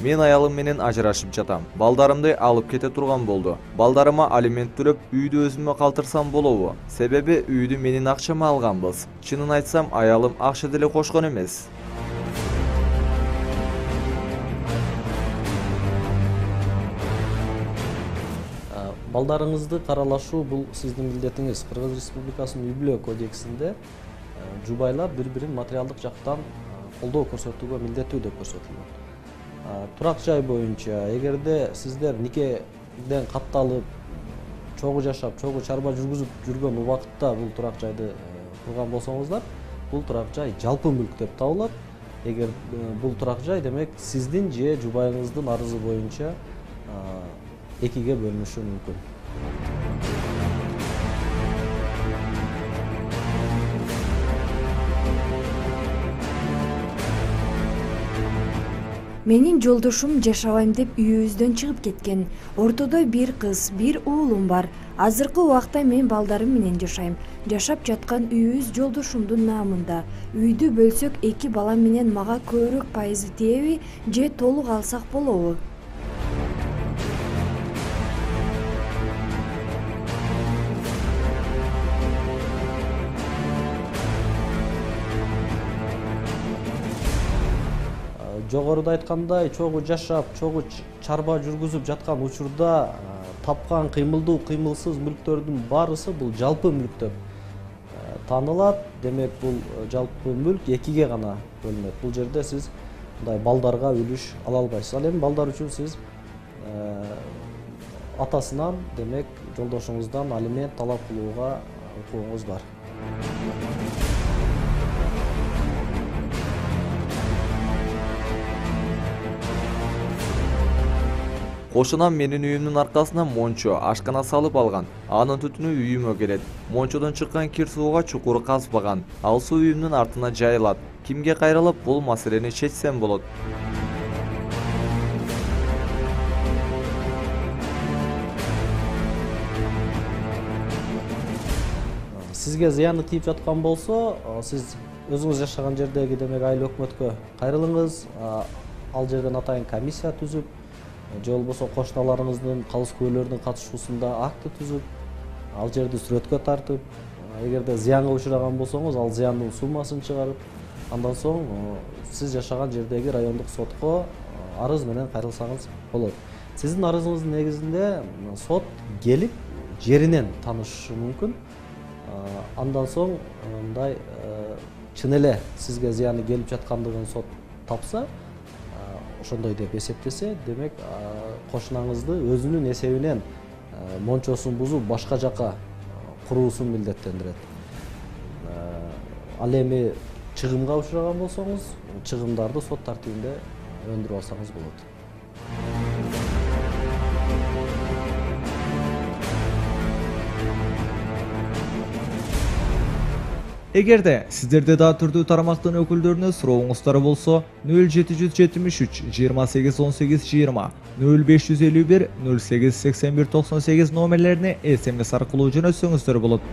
Мен аялым менен ажырашып жатам. Балдарымды алып кете турган болду. Балдарыма алимент төлөп, үйдү өзүмө калтырсам болобу? Себеби үйдү менин акчама алганбыз. Чынын айтсам, аялым акча деле кошкон эмес. Балдарыңызды каралашуу бул сиздин милдетиңиз. Кыргыз Республикасынын үй-бүлө кодексинде жубайлар бири-бирин материалдык жактан колдоо көрсөтүүгө милдеттүү деп көрсөтүлгөн. Турак жай боюнча, эгерде сиздер никеден катталып, чогуу жашап, чогуу чарба жүргүзүп жүргөн убакытта бул турак жайды курган болсоңуздар, бул турак жай жалпы мүлк деп табылат. Эгер бул турак жай, демек сиздин же жубайыңыздын арызы боюнча экиге бөлүнүшү мүмкүн. Менин жолдошум жашабайм деп үйүбүздөн чыгып кеткен. Ортодо бир кыз, бир уулум бар. Азыркы убакта мен балдарым менен жашайм. Жашап жаткан үйүбүз жолдошумдун наамында. Үйдү бөлсөк, 2 балам менен мага көбүрөөк пайызы тиеби же толук алсак болобу? Жогоруда айткандай, чогуу жашап, чогуу чарба жүргүзүп жаткан учурда тапкан кыймылдуу, кыймылсыз мүлктөрдүн баарысы бул жалпы мүлк деп таанылат. Демек, бул жалпы мүлк экиге гана бөлүнөт. Бул жерде сиз мындай балдарга үлүш ала албайсыз. Ал эми балдар үчүн сиз атасынан, демек, жолдошуңуздан алимент талап кылууга укугуңуз бар. Кошунам менин үйүмдүн аркасына мончо, ашкана салып алган. Анын түтүнү үйүмө келет. Мончодон чыккан кир сууга чукур казбаган. Ал суу үйүмдүн артына жайылат. Кимге кайрылып бул маселени чечсем болот? Сизге зыяны тийип жаткан болсо, сиз өзүңүз жашаган жердеги, демек, айыл өкмөткө кайрылыңыз. Ал жерден атайын комиссия түзүп, же болбосо кошуналарыңыздын, калыс күбөлөрдүн катышуусунда акты түзүп, ал жерди сүрөткө тартып, эгерде зыянга учураган болсоңуз, ал зыяндын суммасын чыгарып, андан соң сиз жашаган жердеги райондук сотко арыз менен кайрылсаңыз болот. Сиздин арызыңыздын негизинде сот келип жеринен таанышышы мүмкүн. Андан соң мындай чын эле сизге зыяны келип жаткандыгын сот тапса, ошондой деп эсептесе, демек, кошунаңызды өзүнүн эсебинен мончосун бузуп башка жака куруусун милдеттендирет. Ал эми чыгымга учураган болсоңуз, чыгымдарды сот тартибинде өндүрүп алсаңыз болот. Эгерде сиздерде дагы түрдүү тармактын өкүлдөрүнө сурооңуздар болсо, 0773 28 18 20, 0551 08 81 98 номерлерине SMS аркылуу жөнөтсөңүздөр болот.